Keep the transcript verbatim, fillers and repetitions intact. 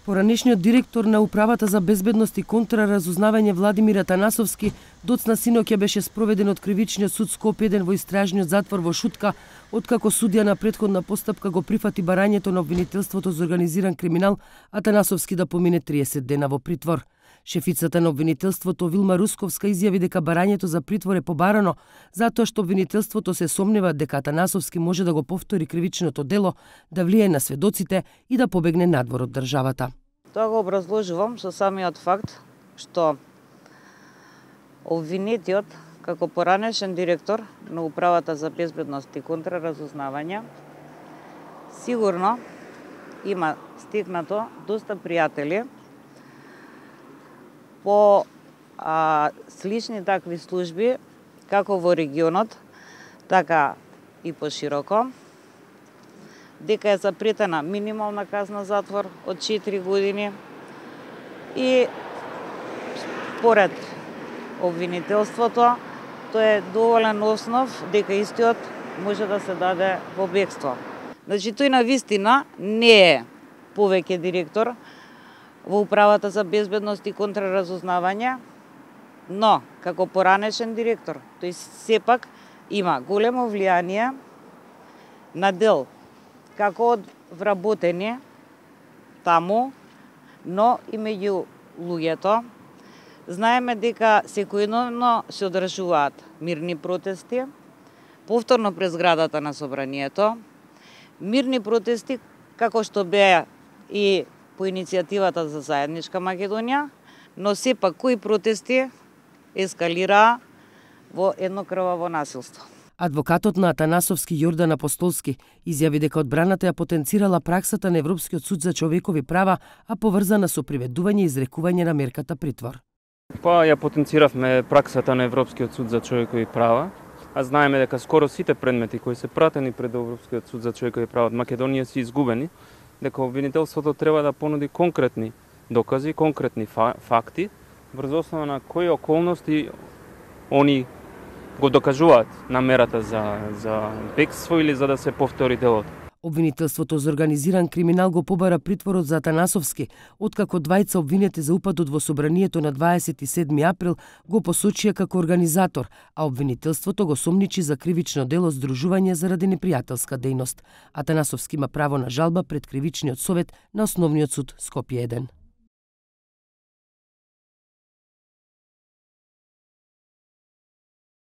Поранешниот директор на Управата за безбедност и контраразузнавање Владимир Атанасовски доцна синоќа беше спроведен од Кривичниот суд Скопје еден во истражниот затвор во Шутка, откако судија на претходна постапка го прифати барањето на обвинителството за организиран криминал, Атанасовски да помине триесет дена во притвор. Шефицата на обвинителството Вилма Русковска изјави дека барањето за притвор е побарано затоа што обвинителството се сомнева дека Атанасовски може да го повтори кривичното дело, да влие на сведоците и да побегне надвор од државата. Тоа го образложувам со самиот факт што обвинетиот како поранешен директор на Управата за безбедност и контраразузнавање сигурно има стекнато доста пријатели по а, слични такви служби, како во регионот, така и пошироко, дека е запретена минимална казна затвор од четири години и според обвинителството, тоа е доволен основ дека истиот може да се даде во бегство. Значи, тој на вистина не е повеќе директор во Управата за безбедност и контраразузнавање, но како поранешен директор, тој сепак има големо влијание на дел како од вработени таму, но и меѓу луѓето. Знаеме дека секојдневно се одржуваат мирни протести, повторно пред зградата на Собранието, мирни протести како што беа и по иницијативата за заедничка Македонија, но сепак кои протести ескалираа во едно крваво насилство. Адвокатот на Атанасовски Јордан Апостолски изјави дека одбраната ја потенцирала праксата на Европскиот суд за човекови права, а поврзана со приведување и изрекување на мерката притвор. Па ја потенциравме праксата на Европскиот суд за човекови права, а знаеме дека скоро сите предмети кои се пратени пред Европскиот суд за човекови права од Македонија се изгубени, дека обвинителството треба да понуди конкретни докази, конкретни факти, врз основа на кои околности они го докажуваат намерата за, за бегство или за да се повтори делото. Обвинителството за организиран криминал го побара притворот за Атанасовски, откако двајца обвинети за упадот во собранието на дваесет и седми април го посочија како организатор, а обвинителството го сомничи за кривично дело здружување заради непријателска дејност. Атанасовски има право на жалба пред Кривичниот совет на Основниот суд Скопје еден.